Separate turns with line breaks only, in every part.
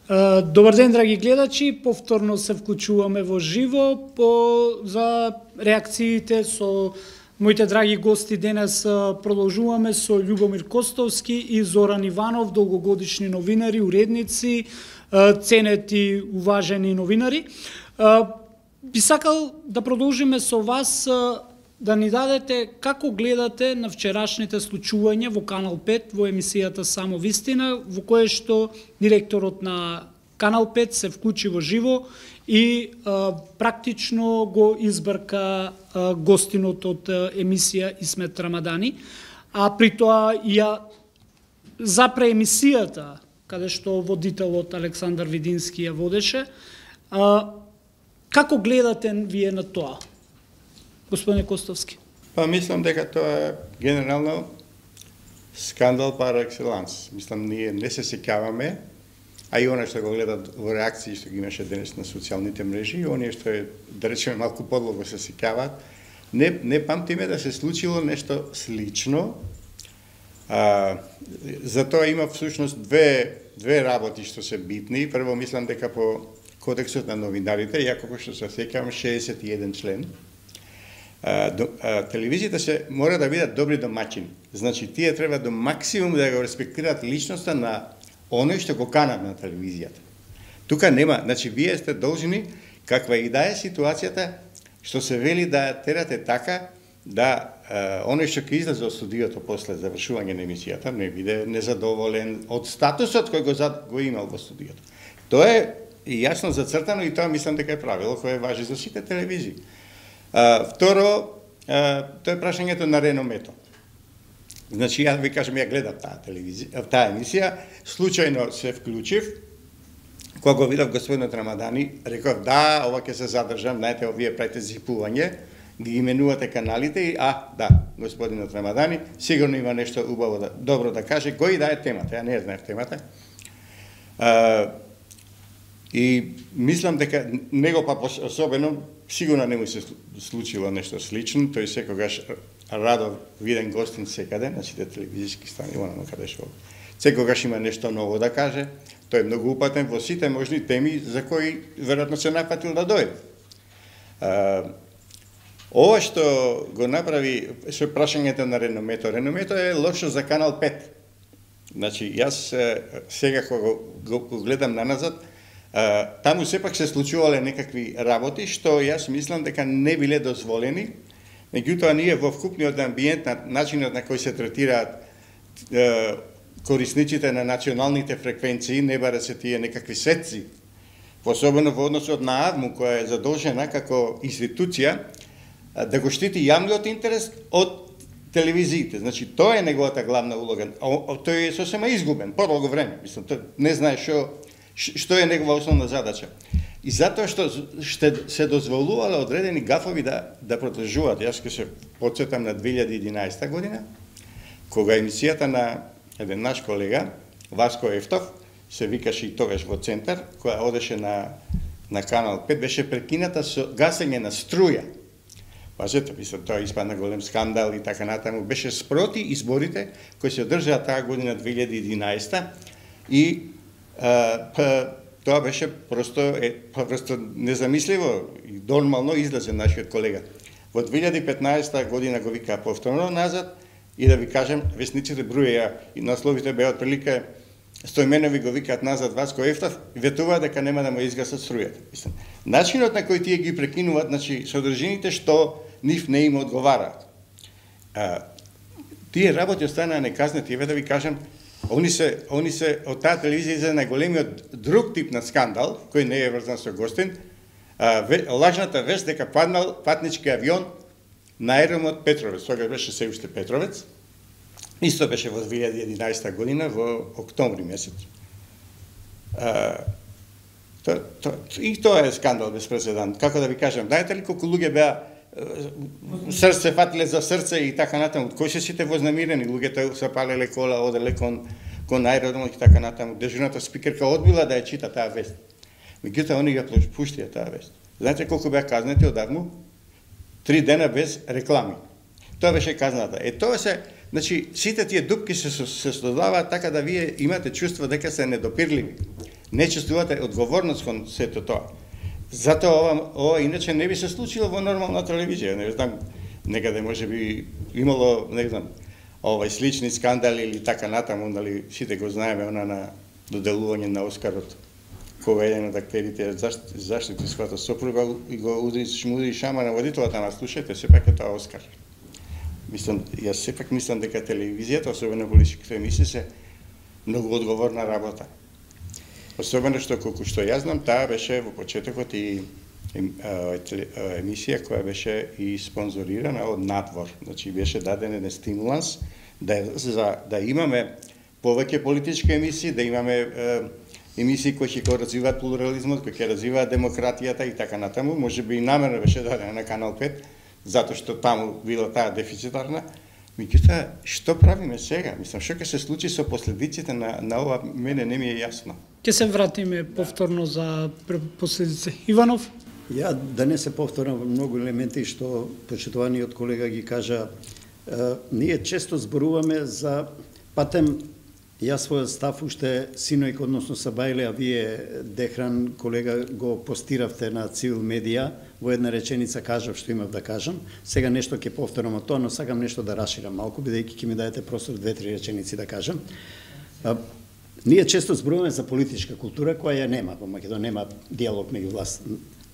Добар ден, драги гледачи, повторно се вклучуваме во живо за реакциите со моите драги гости. Денес продолжуваме со Љубомир Костовски и Зоран Иванов, долгогодишни новинари, уредници, ценети, уважени новинари. Би сакал да продолжиме со вас, да ни дадете како гледате на вчерашните случувања во Канал 5, во емисијата Само вистина, во кое што директорот на Канал 5 се вклучи во живо и практично го избрка гостинот од емисија Исмет Рамадани, а при тоа ја запре емисијата, каде што водителот Александар Видински ја водеше. Како гледате вие на тоа? Господине Костовски.
Па мислам дека тоа е генерално скандал пар екселанс. Мислам ние не се сеќаваме, а и она што го гледат во реакции што ги имаше денес на социјалните мрежи, и оние што е, да речеме, малку подлого се сеќаваат, не памтиме да се случило нешто слично. Затоа има всушност две работи што се битни. Прво мислам дека по Кодексот на новинарите, ја како што се сеќавам 61 член, телевизиите се мора да бидат добри домаќини. Значи, тие треба до максимум да го респектираат личноста на оној што го канат на телевизијата. Тука нема, значи, вие сте должни, каква и да е ситуацијата, што се вели да терате така, да оној што ќе излезе од студиото после завршување на емисијата, не биде незадоволен од статусот кој го имал во студиото. Тоа е јасно зацртано и тоа мислам дека е правило кое важи за сите телевизии. Второ, тоа е прашањето на реномето. Значи, ја ви кажам, ја гледам таа емисија, случајно се вклучив, кога го видов господинот Рамадани, реков, да, ова ќе се задржам, знаете, овие правите зипување, ги именувате каналите и, да, господинот Рамадани, сигурно има нешто убаво, добро да каже, кој да е темата, ја не знаев темата. И мислам дека него па особено, сигурно не му се случило нешто слично, тој секогаш радо виден гостин секаде, на сите телевизиски стани, онама каде што секогаш има нешто ново да каже, тој е многу упатен во сите можни теми за кои веројатно се напатил да дојде. Ова што го направи со прашањето на реномето е лошо за Канал 5. Значи, јас сега кога го гледам наназад, таму сепак се случувале некакви работи што јас мислам дека не биле дозволени, меѓутоа ние во вкупниот амбиент, на начинот на кој се третираат корисниците на националните фреквенции, не баре се тие некакви сетци, особено во односот на АВМУ, која е задолжена како институција да го штити јавниот интерес од телевизиите. Значи, тоа е неговата главна улога. Тој е сосема изгубен, подолго време. Мислам, тој не знае што е негова основна задача. И затоа што се дозволувале одредени гафови да продолжуваат. Јас ќе се потсетам на 2011 година, кога емисијата на еден наш колега, Васко Ефтов, се викаше и тогаш во Центар, која одеше на Канал 5, беше прекината со гасење на струја. Пазете, мислам, тоа испадна голем скандал и така натаму. Беше спроти изборите кои се одржаа таа година 2011 и тоа беше просто незамисливо и нормално излезе нашиот колега. Во 2015 година го вика повторно назад и да ви кажем, весниците броја и насловите беа отприлика Стојменови го викаат назад Васко Ефтов и ветуваат дека нема да му изгасат струјата. Мислам, начинот на кој тие ги прекинуваат, значи содржините што нив не им одговараат. Тие работи останаа неказнати, еве да ви кажем, Они се од таа телевизија за најголемиот друг тип на скандал, кој не е врзан со гостин, лажната вест дека паднал патнички авион на аеромот Петровец, тогаш беше се уште Петровец, исто беше во 2011 година, во октомври месец. И тоа е скандал без преседан. Како да ви кажам, знаете ли колку луѓе беа срце фатиле за срце и така натаму, кои се сите вознамирени, луѓето се палеле кола, оделе кон аеродромот и така натаму. Дежурната спикерка одбила да ја чита таа вест. Меѓутоа они ја пуштија таа вест. Знаете колку беа казнети одавно? 3 дена без реклами. Тоа беше казната. Тоа се, значи, сите тие дупки се создаваат така да вие имате чувство дека се недопирливи. не чувствувате одговорност кон сето тоа. Затоа ова иначе не би се случило во нормална телевизија. Не знам, некаде може би имало, не знам, слични скандали или така натаму, нали, сите го знаеме, она на доделување на Оскарот, кога еден од актерите заштити својата сопруга и го удри шама на водителата, ама слушајте, сепак е тоа Оскар. Јас сепак мислам дека телевизијата, особено политичките емисии, се многу одговорна работа. Особено што, колку што јас знам, таа беше во почетокот и емисија која беше и спонзорирана од надвор. Значи, беше даден еден стимуланс да имаме повеќе политички емисии, да имаме емисии кои ќе развиваат плурализмот, кои ќе развиваат демократијата и така натаму. Може би и намерно беше дадена на Канал 5, затоа што таму била таа дефицитарна. Меѓутоа, што правиме сега? Мислам, што ќе се случи со последиците на ова, мене не ми е јасно.
Ќе се вратиме повторно за последици. Иванов?
Ја да не се повторам во многу елементи што почитуваниот колега ги кажа. Ние често зборуваме за патем. Јас својот став уште синојк, односно Сабајле, а вие, Дехран, колега, го постиравте на Цивил медија, во една реченица кажав што имав да кажам. Сега нешто ќе повторам од тоа, но сакам нешто да расширам малку, бидејќи ќе ми дадете простор 2-3 реченици да кажам. Ние често зборуваме за политичка култура, која ја нема во Македонија, нема диалог меѓу власт,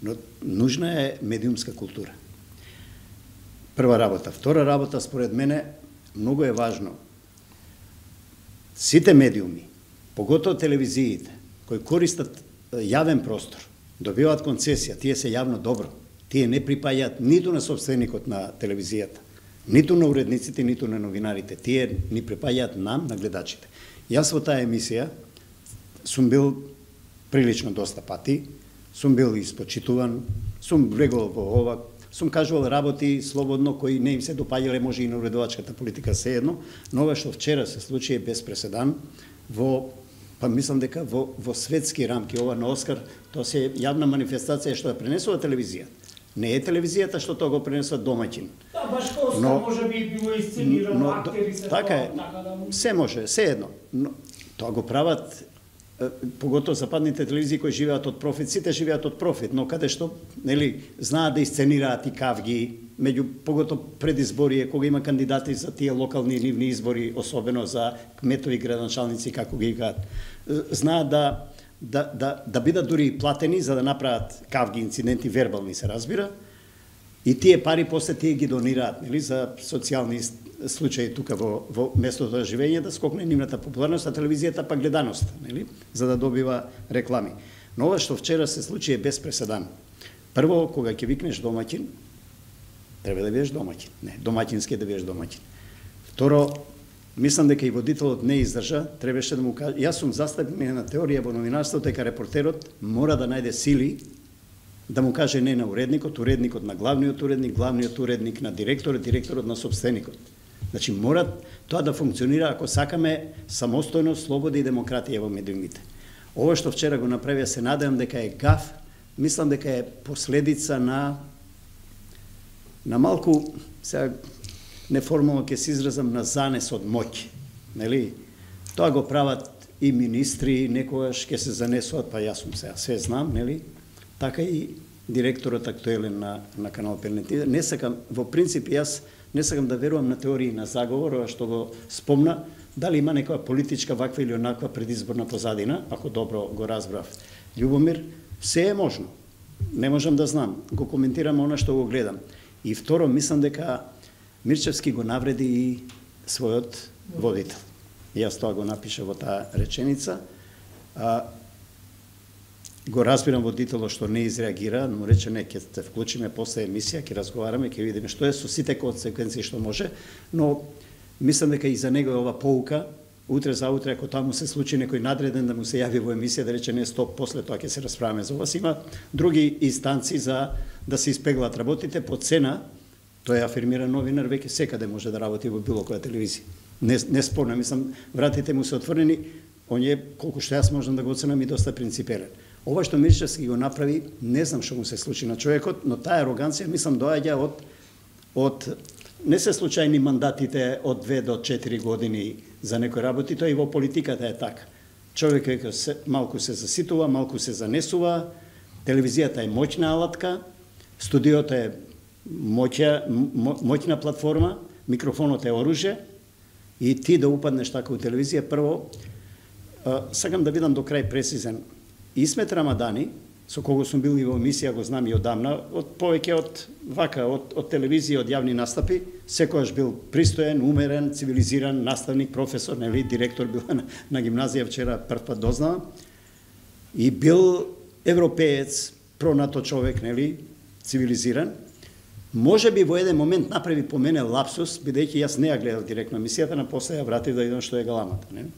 но нужна е медиумска култура. Прва работа. Втора работа, според мене, многу е важно. Сите медиуми, поготово телевизиите, кои користат јавен простор, добиваат концесија, тие се јавно добро. Тие не припаѓаат ниту на собственикот на телевизијата, ниту на уредниците, ниту на новинарите. Тие ни припаѓаат нам, на гледачите. Јас во таа емисија сум бил прилично доста пати, сум бил испочитуван, сум регувал во ова, сум кажувал работи слободно кои не им се допаѓале, може и на уредувачката политика sejedno, но ова што вчера се случи е без преседан па мислам дека во светски рамки. Ова на Оскар, тоа се јавна манифестација што ја пренесува телевизија. Не е телевизијата што тоа го пренесува домаќин.
Да, баш како Оскар може би било исценирано, актери се
така е, се може, sejedno. Но тоа го прават поготово западните телевизии кои живеат од профит, сите живеат од профит, но каде што, нели, знаат да исценираат и кавги, меѓу поготово предизборие, кога има кандидати за тие локални нивни избори, особено за кметови, градоначалници, како ги кажат, знаат да бидат дури платени за да направат кавги, инциденти, вербални се разбира, и тие пари после тие ги донираат, нели, за социјални случаи тука во местото за живење, да скокне нивната популарност, а телевизијата па гледаност, нели, за да добива реклами. Но ова што вчера се случи е без преседан. Прво, кога ќе викнеш домаќин, треба да бидеш домаќин. Не, домаќински да бидеш домаќин. Второ, мислам дека и водителот не издржа, требаше да му каже, јас сум застапник на теорија во новинарството дека репортерот мора да најде сили да му каже не на уредникот, уредникот на главниот уредник на директорот, директорот на собственикот. Значи, мора тоа да функционира ако сакаме самостојност, слобода и демократија во медиумите. Ова што вчера го направија, се надевам дека е гаф, мислам дека е последица на малку, сега неформално ќе се изразам, на занес од моќ. Нели? Тоа го прават и министри, некогаш ќе се занесуваат, па јас сум сега све знам, нели? Така и директорот актуелен на Канал 5. Не сакам, во принцип, јас не сакам да верувам на теории на заговор, што го спомна, дали има некоја политичка ваква или онаква предизборна позадина, ако добро го разбрав Љубомир, се е можно. Не можам да знам, го коментирам она што го гледам. И второ, мислам дека Мирчевски го навреди и својот водител. Јас тоа го напиша во таа реченица. Го разбирам водителот што не изреагира, но рече не, ќе се вклучиме после емисија, ќе разговараме, ќе видиме што е со сите консеквенции што може, но мислам дека и за него е ова поука, утре за утре, ако тоа му се случи некој надреден да му се јави во емисија, да рече не, стоп, после тоа ќе се расправаме за ова. Има други инстанци за да се испеглат работите по цена, тоа е афирмира новинар, веќе секаде може да работи во било која телевизија. Не спорно, мислам, вратите му се отворени, он е, колку што јас можам да го оценам, и доста принципелен. Ова што Мирчевски го направи, не знам што му се случи на човекот, но таа ароганција, мислам, доаѓа од не се случајни мандатите од 2 до 4 години за некои работи, тоа и во политиката е така. човек веќе малку се заситува, малку се занесува, телевизијата е моќна алатка, студиото е моќна платформа, микрофонот е оружје, и ти да упаднеш така у телевизија, прво, сакам да бидам до крај прецизен. Исмет Рамадани, со кого сум бил и во емисија, го знам и одамна, повеќе од телевизија, од јавни настапи, секојаш бил пристоен, умерен, цивилизиран наставник, професор, нели, директор бил на гимназија, вчера прв пат дознавам, и бил европеец, пронато човек, нели, цивилизиран. Може би во еден момент направи по мене лапсус, бидејќи јас не ја гледав директно емисијата, на после ја вратив да видам што е галамата, нели?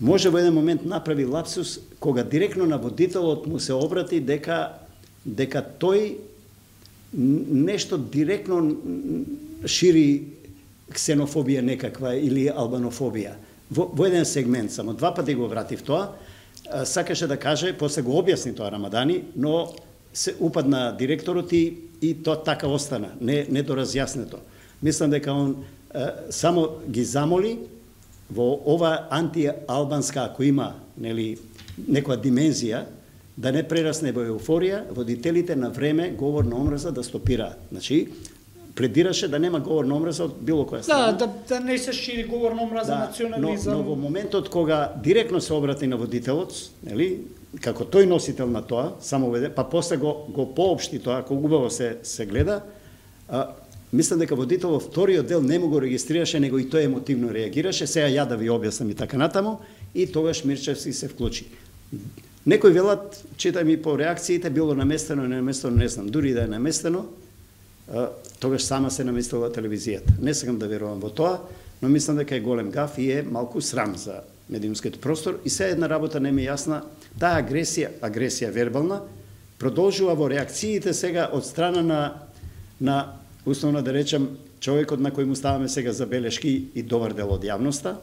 Може во еден момент направи лапсус кога директно на водителот му се обрати дека тој нешто директно шири ксенофобија некаква или албанофобија. Во еден сегмент само, два пати го вратив тоа, сакаше да каже, после го објасни тоа Рамадани, но се упадна директорот и тоа така остана, не доразјаснето. Мислам дека он само ги замоли во ова антиалбанска, ако има, нели, некоја димензија, да не прерасне во еуфорија, водителите на време говор на омраза да стопираат. Значи, пледираше да нема говор на омраза од било која страна.
Да не се шири говор на омраза, национализам.
Но во моментот кога директно се обрати на водителот, нели, како тој носител на тоа, само па после го поопшти тоа, ако убаво се гледа, мислам дека водителот вториот дел не му го регистрираше, него и тој емотивно реагираше, сега ја да ви објаснам и така натаму, и тогаш Мирчевски се вклучи. Некои велат, читам и по реакциите, било наместено, не наместено, не знам, дури да е наместено, тогаш сама се наместила телевизијата. Не сакам да верувам во тоа, но мислам дека е голем гаф и е малку срам за медиумскиот простор. И сега една работа не ми е јасна, таа агресија вербална, продолжува во реакциите сега од страна на условно да речем, човекот на кој му ставаме сега забелешки и добар дел од јавноста.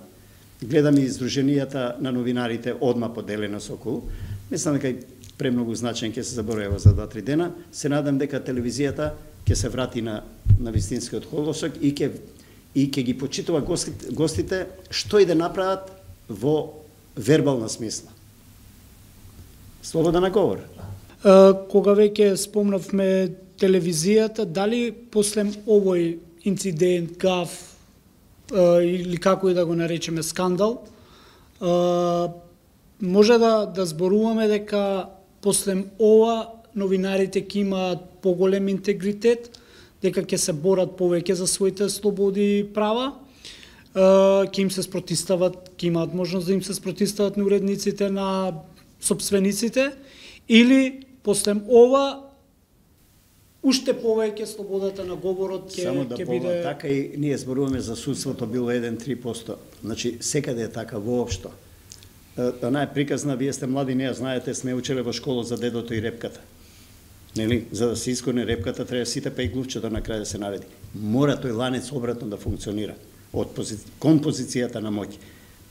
Гледам и издруженијата на новинарите одма поделено со околу. Мислам дека и премногу значаен ќе се заборува за 2-3 дена. Се надам дека телевизијата ќе се врати на вистинскиот колосок и ќе ги почитува гостите што и да направат во вербална смисла. Слобода на говор.
Кога веќе спомнавме телевизијата, дали после овој инцидент, гаф, или како и да го наречеме скандал, може да зборуваме дека после ова новинарите ќе имаат поголем интегритет, дека ќе се борат повеќе за своите слободи и права, ќе им се спротивстават, ќе имаат можност да им се спротивстават на уредниците, на сопствениците, или после ова уште повеќе слободата на говорот ќе
Само да
биде...
така и ние зборуваме за судството било 1-3%. Значи, секаде е така воопшто. Она е приказна, вие сте млади, не ја знаете, сме учеле во школа за дедото и репката. Нели? За да се исконе репката, треба сите па и глувчето на крај да се наведи. Мора тој ланец обратно да функционира кон позицијата на моќ.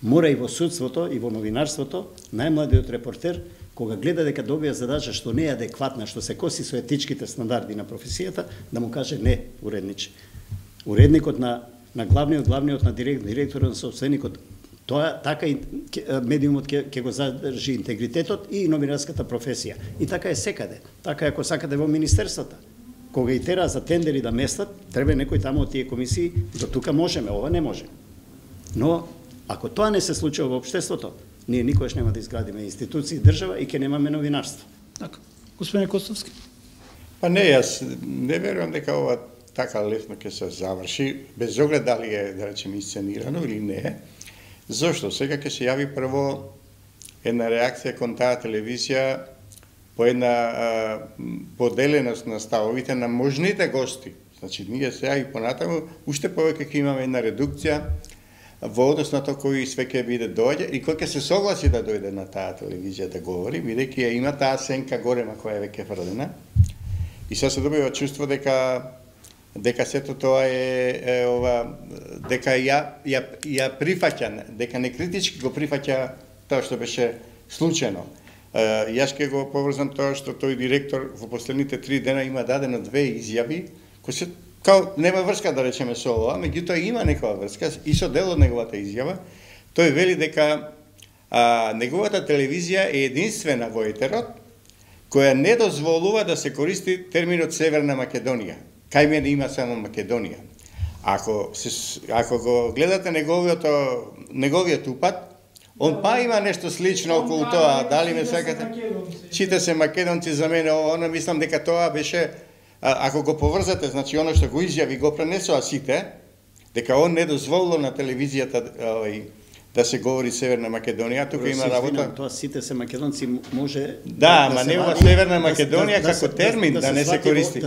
Мора и во судството, и во новинарството, најмладиот репортер, кога гледа дека добија задача што не е адекватна, што се коси со етичките стандарди на професијата, да му каже не, уредниче. Уредникот на главниот на директорот на собственикот, тоа така и медиумот ќе го задржи интегритетот и новинарската професија. И така е секаде. Така е ако сакате во министерствата. Кога и тера за тендери да местат, треба некој таму од тие комисии, до тука можеме, ова не може. Но ако тоа не се случува во општеството, ние никогаш нема да изградиме институции, држава и ќе немаме новинарство.
Така. Господин Костовски.
Па не, јас не верувам дека ова така лесно ќе се заврши, без оглед дали е, да речем,исценирано или не. Зошто? Сега ќе се јави прво една реакција кон таа телевизија по една поделеност на ставовите на можните гости. Значи, ние сега и понатаму, уште повеќе ќе имаме една редукција во однос на тоа кој све ќе биде доаѓа и кој ќе се согласи да дојде на таа телевизија да говори, бидејќи ја има таа сенка горема која е веќе фрлена. И сега се добива чувство дека сето тоа е дека ја прифаќа, дека не критички го прифаќа тоа што беше случено. Јас ќе го поврзам тоа што тој директор во последните 3 дена има дадено 2 изјави кои се као нема врска да речеме со ова, меѓутоа има некоја врска и со дел од неговата изјава. Тој вели дека неговата телевизија е единствена во етерот која не дозволува да се користи терминот Северна Македонија. Кај мене има само Македонија. Ако го гледате неговиот упат, он па има нешто слично околу тоа, дали ме сакате? Чита се македонци за мене, оно мислам дека тоа беше, ако го поврзате, значи оно што го изјави го пренесоа сите, дека он не дозволил на телевизијата да се говори Северна Македонија, тука има работа.
Тоа сите се македонци може
да, ама не ова Северна Македонија како термин да не се користи.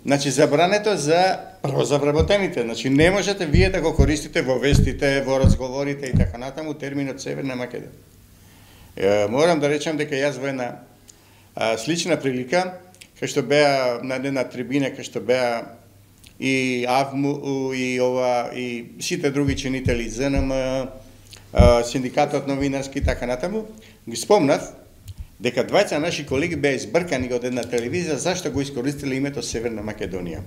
Значи забрането за првозавработените. Значи не можете вие да го користите во вестите, во разговорите и така натаму терминот Северна Македонија. Морам да речам дека јас во една слична прилика, кај што беа на една трибина, кај што беа и АВМУ и сите други чинители ЗНМ, синдикатот новинарски и така натаму, ги спомнав дека двајца наши колеги беа избркани од една телевизија зашто го искористиле името Северна Македонија.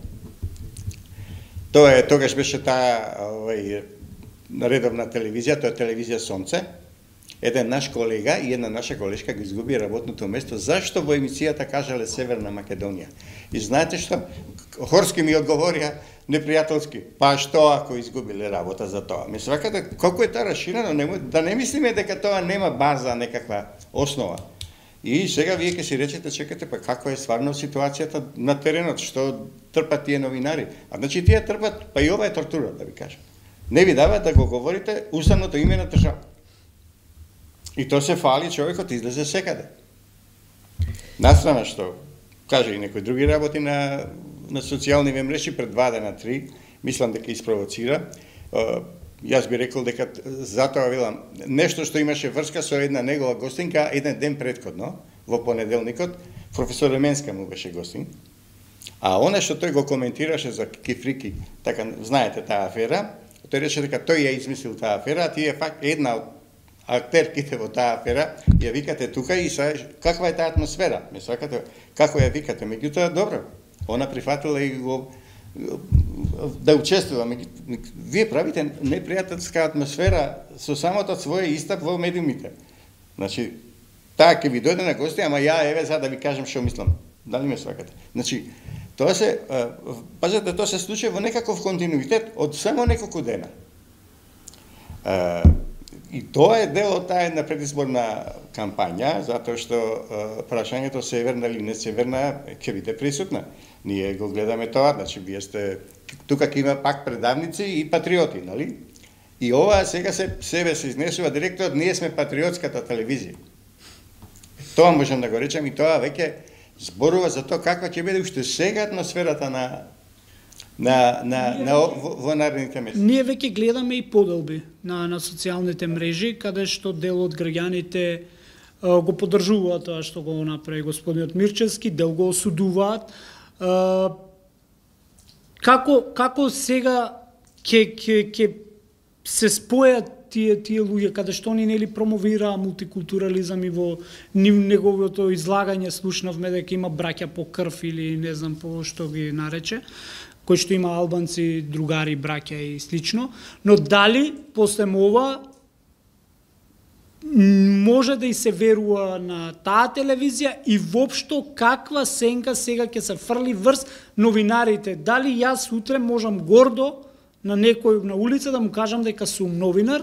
Тогаш беше таа редовна телевизија, тоа е телевизија Сонце. Еден наш колега и една наша колешка го изгуби работното место. Зашто во емисијата кажале Северна Македонија? И знаете што? Хорски ми одговорија непријателски. Па што ако изгубиле работа за тоа? Ме свакате, колку е тоа расширено, да не мислиме дека тоа нема база, некаква основа. И сега вие ќе си речете, чекате, па како е стварно ситуацијата на теренот, што трпат тие новинари? Значи тие трпат, па и ова е тортура, да ви кажам. Не ви дават да го говорите уставното име на држава. И то се фали, човекот излезе секаде. Настрана што, каже и некои други работи на социјални мрежи пред 2 дена 3, мислам дека испровоцира. Јас би рекол дека затоа велам, нешто што имаше врска со една негова гостинка еден ден претходно, во понеделникот, професор Ременска му беше гостин. А оно што тој го коментираше за кифрики, така знаете таа афера, тој рече дека тој ја измислил таа афера, а тие факт една од актерките во таа афера, ја викате тука и каква е таа атмосфера? Ме сакате, како ја викате? Меѓутоа, добро, она прифатила и го да учествува. Вие правите непријателска атмосфера со самото своје истап во медиумите. Значи, таа ќе ви дојде на гости, ама ја еве за да ви кажам што мислам. Дали ме свакате? Значи, тоа се, пазете, тоа се случи во некаков континуитет од само неколку дена. И тоа е дел од таа една предизборна кампања, затоа што прашањето северна или не северна ќе биде присутна. Ние го гледаме тоа, значи вие сте тука ќе има пак предавници и патриоти, нали? И ова сега себе се изнесува директор, ние сме патриотската телевизија. Тоа можам да го речам и тоа веќе зборува за тоа каква ќе биде уште сега атмосферата во наредните месеци.
Ние веќе гледаме и поделби на социјалните мрежи, каде што дел од граѓаните го поддржуваат тоа што го направи господинот Мирчевски, дел го осудуваат. Како сега ќе се спојат тие луѓе, каде што они нели промовираа мултикултурализам и во неговото излагање слушнавме дека има браќа по крв или не знам по што ги нарече, кои што има албанци, другари, браќа и слично, но дали после ова може да и се верува на таа телевизија и воопшто каква сенка сега ќе се фрли врз новинарите? Дали јас утре можам гордо на некој на улица да му кажам дека сум новинар,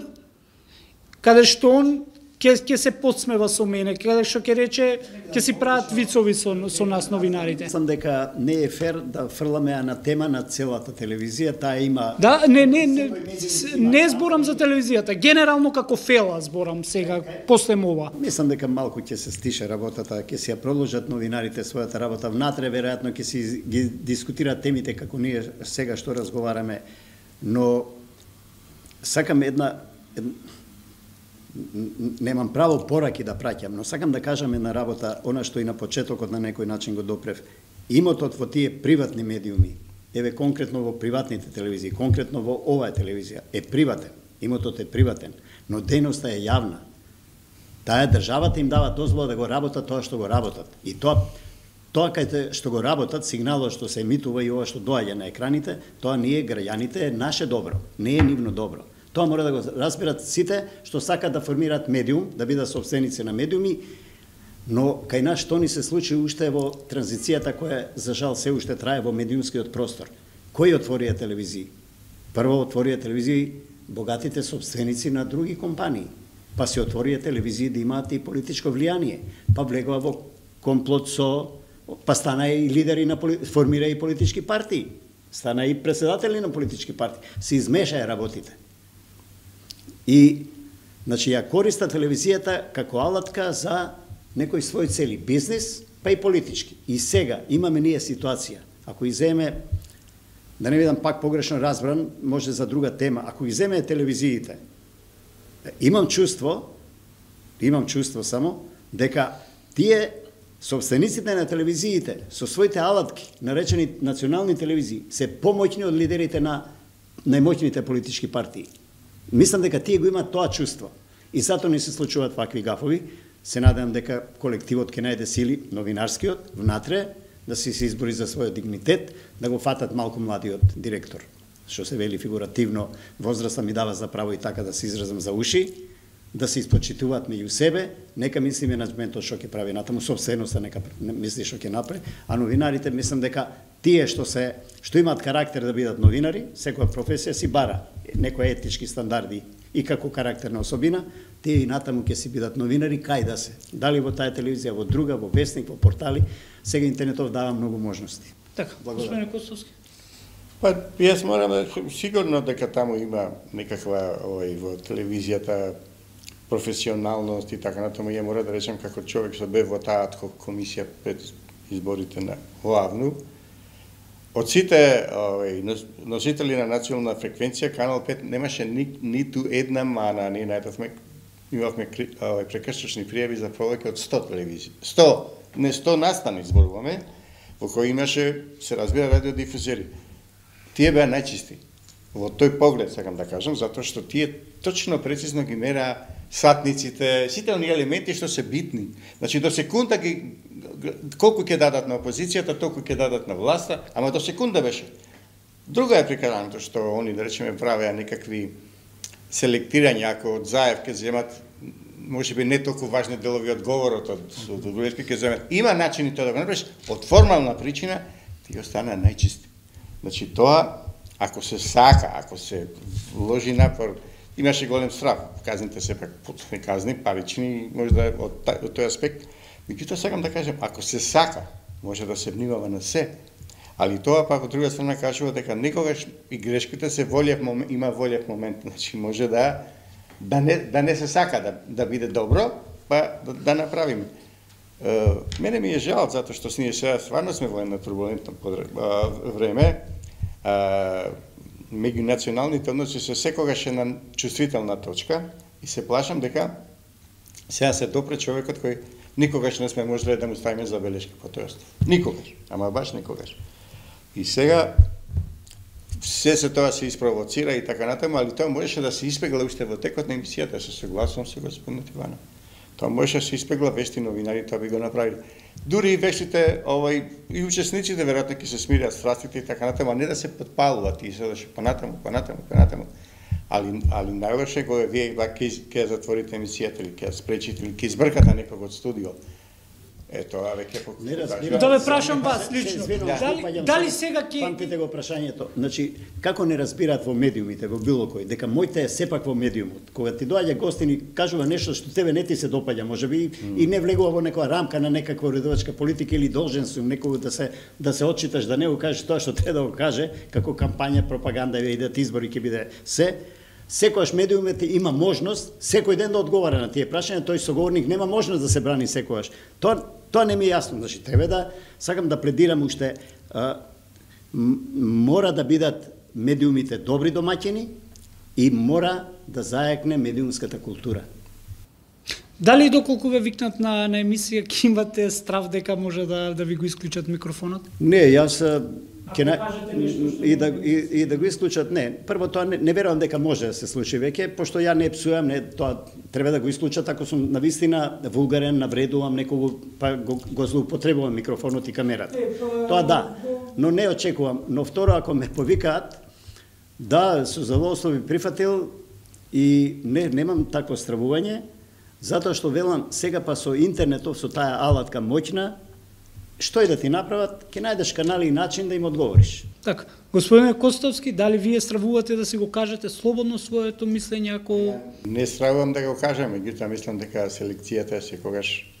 каде што он ќе се подсмева со мене, каде што ќе рече, ќе си прават вицови со нас новинарите.
Мислам дека не е фер да фрламе анатема на целата телевизија, таа има...
Да, не зборам за телевизијата, генерално како фела зборам сега, после ова.
Мислам дека малку ќе се стише работата, ќе си ја продолжат новинарите својата работа внатре, веројатно ќе си ги дискутираат темите како ние сега што разговараме, но сакам немам право пораки да праќам, но сакам да кажам една работа, она што и на почетокот на некој начин го допрев. Имотот во тие приватни медиуми, еве конкретно во приватните телевизии, конкретно во оваа телевизија, е приватен. Имотот е приватен, но дејноста е јавна. Таа државата им дава дозвола да го работат тоа што го работат. И тоа кај што го работат, сигналот што се емитува и ова што доаѓа на екраните, тоа ние граѓаните е наше добро, не е нивно добро. Тоа мора да го разберат сите што сакаат да формираат медиум, да бидат собственици на медиуми, но кај нас што ни се случи уште во транзицијата која за жал се уште трае во медиумскиот простор. Кои отворија телевизии? Прво отворија телевизии богатите собственици на други компании, па се отворија телевизии да имаат и политичко влијание, па влегува во комплот па стана и лидери на формира и политички партии, стана и председатели на политички партии, се измешаја работите. И, значи, ја користа телевизијата како алатка за некои своји цели, бизнес, па и политички. И сега имаме ние ситуација, ако иземе, да не видам пак погрешно разбран, може за друга тема, ако иземе телевизиите, имам чувство само, дека тие собствениците на телевизиите со своите алатки, наречени национални телевизии, се помоćни од лидерите на најмоćните политички партии. Мислам дека тие го имаат тоа чувство. И затоа не се случуваат вакви гафови. Се надевам дека колективот ќе најде сили, новинарскиот, внатре, да се избори за својот дигнитет, да го фатат малку младиот директор. Што се вели фигуративно, возраста ми дава за право и така да се изразам за уши, да се испочитуваат меѓу себе, нека мисли менаџментот што ќе прави натаму, собственоста нека мисли што ќе направи, а новинарите мислам дека тие што имаат карактер да бидат новинари, секоја професија си бара некои етички стандарди и како карактерна особина, тие и натаму ќе си бидат новинари, кај да се. Дали во таа телевизија, во друга, во вестник, во портали, сега интернетов дава многу можности.
Така, господин Костовски.
Па, јас морам сигурно дека таму има некаква во телевизијата професионалност и така натаму. Ја мора да речем како човек што бе во таа адхок комисија пред изборите на главну. Од сите носители на национална фреквенција, Канал 5 немаше ниту една мана. Ние најдовме, имавме прекршочни пријави за повеќе од 100 телевизии. 100 настани зборуваме, во кои имаше, се разбира, радиодифузери. Тие беа најчисти. Во тој поглед, сакам да кажам, затоа што тие точно прецизно ги мераа сатниците, сите оние елементи што се битни. Значи, до секунда колку ќе дадат на опозицијата, толку ќе дадат на власта, ама до секунда беше. Друга е прикараното што они, да речеме, правеа некакви селектирања, ако од Заев ќе земат, можеби не толку важни делови од говорот, од Груевски ќе земат. Има начини тоа да го направиш, од формална причина, ти остана најчисти. Значи, тоа, ако се сака, ако се вложи напор, имаше голем страф. Казните се пак потпни казни, парични, може да од тој аспект. Меѓутоа сакам да кажем, ако се сака, може да се внимава на се, али тоа пак од друга страна кажува дека некогаш и грешките се има волев момент, значи може да не се сака да биде добро, па да направиме. Мене ми е жал затоа што ние сега стварно сме во една турбулентно време. Меѓунационалните односи се секогаш една чувствителна точка и се плашам дека сега се допре човекот кој никогаш не сме можеле да му ставиме забелешка по тој остав. Никогаш, ама баш никогаш. И сега се тоа се испровоцира и така натаму, али тоа можеше да се испегла уште во текот на емисијата, се согласувам со господин Иванов. Тоа можеше да се испегла, вешти новинари тоа би го направили. Дури и вештите, и учесниците веројатно ќе се смират страстите и така натаму, а не да се подпалуваат и се понатаму. Али најлоше го е вие ќе затворите емисијата или ќе спречите или ќе избркате некого од студио. Тоа веќе
Да ве прашам вас лично. Дали сега ќе
памтите го прашањето. Значи, како не разбираат во медиумите, во било кој, дека моите е сепак во медиумот. Кога ти доаѓа гостин и кажува нешто што тебе не ти се допаѓа, можеби и не влегува во некоја рамка на некаква уредувачка политика или должен си некого да се отчиташ, да не го кажеш тоа што треба да го каже, како кампања, пропаганда, идат избори ќе биде се. Секојаш медиумите има можност секој ден да одговара на тие прашања, тој соговорник нема можност да се брани секојаш. Тоа не ми е јасно, значи треба да сакам да пледирам уште мора да бидат медиумите добри домаќини и мора да заекне медиумската култура.
Дали доколку ве викнат на емисија ќе имате страв дека може да ви го исклучат микрофонот?
Не, јас и да го исклучат, не. Прво тоа не верувам дека може да се случи веќе, пошто ја не псујам, не, тоа треба да го исклучат ако сум навистина вулгарен, навредувам некого, па го злоупотребувам микрофонот и камерата. Тоа да, но не очекувам. Но второ, ако ме повикаат, да, со задоволство би прифатил, И немам такво стравување, затоа што велам, сега па со интернетов, со таа алатка моќна, што и да ти направат, ќе најдеш канали и начин да им одговориш.
Така, господине Костовски, дали вие стравувате да си го кажете слободно своето мислење ако...
Не стравувам да го кажам, меѓутоа мислам дека селекцијата е секогаш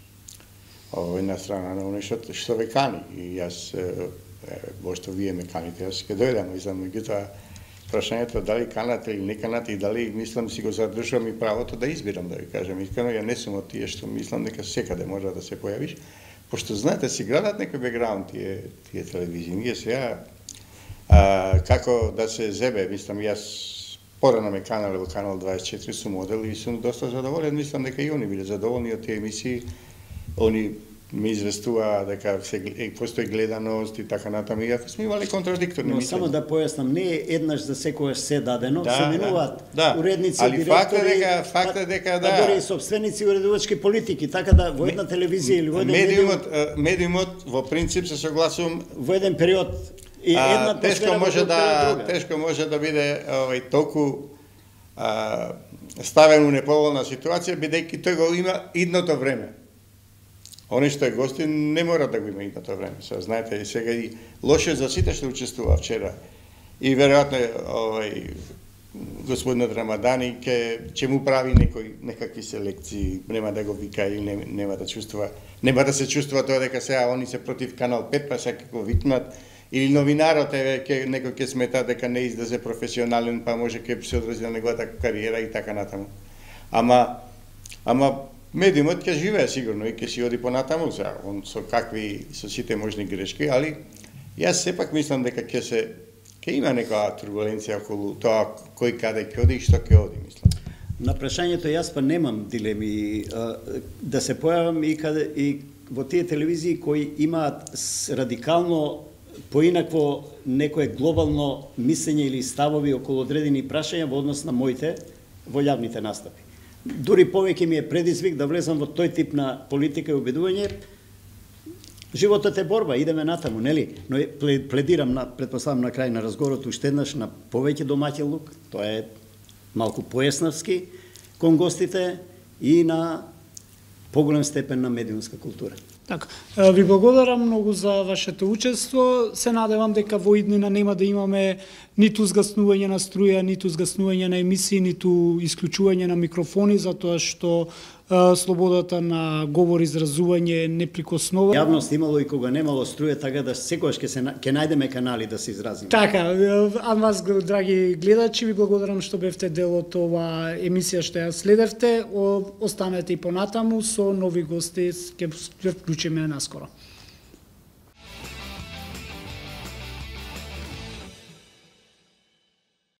една страна на оно што ве кани. И јас, бошто вие ме каните, јас ќе дојдам, мислам, меѓутоа прашањето дали канат или не канат и дали мислам си го задржувам и правото да избирам, да ви кажам искрено, ја не сум од тие што мислам дека секаде може да се појавиш, пошто знаете си градат некој бекграунд тие телевизии. Ние сега како да се зебе, мислам јас порано ме канале во Канал 24 сум модел и сум доста задоволен, мислам дека и они биле задоволни од тие емисии. Они ми известува дека постои гледаност и така натаму, и ако сме имали контрадикторни
мислења. Но само да појаснам, не е еднаш за секојаш се дадено, се менуваат уредници, директори,
факт е дека
дори собственици уредувачки политики, така да во една телевизија или во еден
медиумот во принцип се согласувам
во еден период и една
тешко може да биде толку ставен у неповолна ситуација, бидејќи тој го има идното време. Они што е гости не мора да го има идното време. Знаете, сега и лошо за сите што учествува вчера. И веројатно господинот Рамадани ќе му прави некакви селекции, нема да го вика или нема да чувствува, нема да се чувствува тоа дека сега они се против Канал 5, па сега го викнат, или новинарот некој ќе смета дека не излезе професионален, па може ќе се одрази на неговата кариера и така натаму. Ама медиумот ќе живее сигурно и ќе си оди понатаму, он со сите можни грешки, али јас сепак мислам дека ќе има некоја турбуленција околу тоа кој каде ќе оди и што ќе оди, мислам.
На прашањето јас па немам дилеми да се појавам и во тие телевизии кои имаат радикално поинакво некое глобално мислење или ставови околу одредени прашања во однос на моите во јавните настапи. Дури повеќе ми е предизвик да влезам во тој тип на политика и убедување. Животот е борба, идеме натаму, нели? Но пледирам, претпоставам на крај на разговорот уште еднаш на повеќе домаќинлук, тоа е малку поеснавски кон гостите и на поголем степен на медиумска култура.
Така, ви благодарам многу за вашето учество. Се надевам дека во иднина нема да имаме ниту згаснување на струја, ниту згаснување на емисии, ниту исклучување на микрофони, затоа што слободата на говор и изразување е неприкосновена.
Јавност имало и кога немало струја, така да секогаш ќе најдеме канали да се изразиме.
Така, а вас, драги гледачи, ви благодарам што бевте дел од ова емисија што ја следевте. Останете и понатаму со нови гости, ќе вклучиме наскоро.